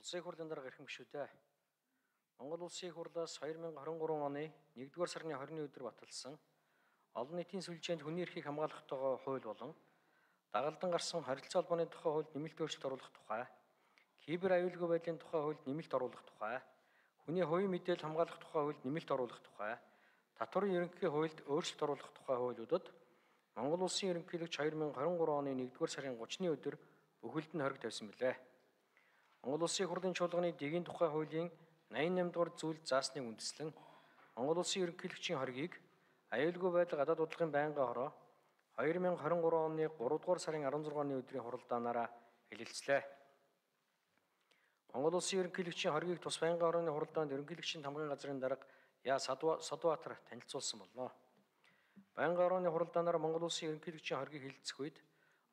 Улсын хурлын дарга эрхэм гишүүдээ. Монгол Улсын хурлаас 2023 оны 1-р сарын 20-ны өдөр баталсан олон нийтийн сүлжээнд хүний эрхийг хамгаалах тухай хууль болон дагалдан гарсан харилцаа холбооны тухай хуульд нэмэлт өөрчлөлт оруулах тухай, кибер аюулгүй байдлын тухай хуульд нэмэлт оруулах тухай, хүний хувийн мэдээлэл хамгаалах тухай хуульд нэмэлт оруулах тухай, татварын ерөнхий хуульд өөрчлөлт оруулах тухай хуулиудад Монгол Улсын ерөнхийлөгч 2023 оны 1-р сарын 30-ны өдөр бүхэлд нь хориг тавьсан билээ. Монгол Улсын хурлын чуулганы дэгийн тухай хуулийн 88 дугаар зүйлд заасныг үндэслэн Монгол Улсын ерөнхийлөгчийн хоригийг аюулгүй байдал гадаад бодлогын байнгын хороо 2023 оны 3-р сарын 16-ны өдрийн хуралдаанаараа хэлэлцлээ. Монгол Улсын ерөнхийлөгчийн хоригийг тус байнгын хорооны хуралдаанд ерөнхийлөгчийн тамгын газрын дарга Яа Садбаатар танилцуулсан болно. Байнгын хорооны хуралдаанаар Монгол Улсын ерөнхийлөгчийн хоригийг хэлэлцэх үед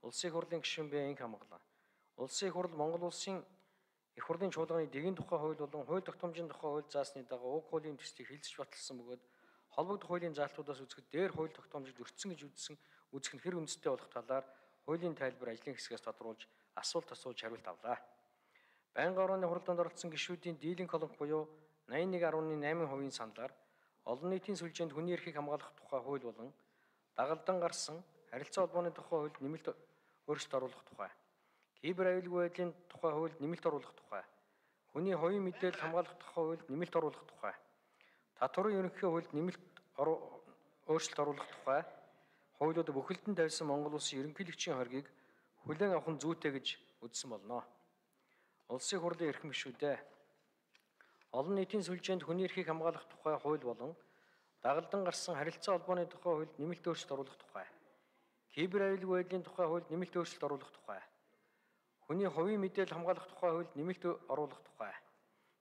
Улсын хурлын гишүүн Б инх хамглан. Улсын хурл Монгол Улсын их хурлын чуулганы дэгийн тухай хууль болон хууль тогтоомжийн тухай хууль заасны дагуу уг хуулийн төслийг хэлэлцэж баталсан бөгөөд холбогдох хуулийн заалтуудаас үзэхэд дээр хууль тогтоомжид өртсөн гэж үзэх нь хэр үндэстэй болох талаар хуулийн тайлбар ажлын хэсгээс тодруулж асуулт асууж хариулт авлаа. Байнгын хорооны хуралдаанд оролцсон гишүүдийн дийлэнх колонх буюу 81.8% саналаар олон нийтийн сүлжээнд хүний эрхийг хамгаалах тухай хууль болон дагалдан гарсан харилцаа холбооны тухай хуульд нэмэлт өөрчлөлт оруулах тухай, кибер аюулгүй байдлын тухай хуульд нэмэлт оруулах тухай, хүний хувийн мэдээлэл хамгаалах тухай хуульд нэмэлт оруулах тухай, татварын ерөнхий хуульд нэмэлт өөрчлөлт оруулах тухай хуулиуд бүхэлд нь тавьсан Монгол Улсын ерөнхийлөгчийн хоригийг хүлээн авах нь зүйтэй гэж үзсэн болно. Улсын хурлын эрхэм гишүүдээ. Олон нийтийн сүлжээнд хүний эрхийг хамгаалах тухай хууль болон дагалдан гарсан харилцаа холбооны тухай хуульд нэмэлт өөрчлөлт оруулах тухай, кибер аюулгүй байдлын тухай хуульд нэмэлт өөрчлөлт оруулах тухай, хүний хувийн мэдээлэл хамгаалах тухай хуульд нэмэлт оруулах тухай,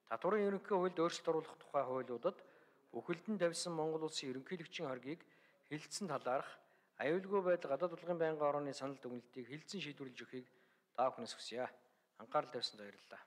татварын ерөнхий хуульд өөрчлөлт оруулах тухай хуулиудад бүхэлд нь тавьсан Монгол Улсын ерөнхийлөгчийн хоригийг хэлэлцсэн талаарх аюулгүй байдал гадаад бодлогын байнгын хорооны санал дүгнэлтийг хэлэлцэн шийдвэрлэж өгөхийг та бүхнээс хүсье. Анхаарал тавьсанд баярлалаа.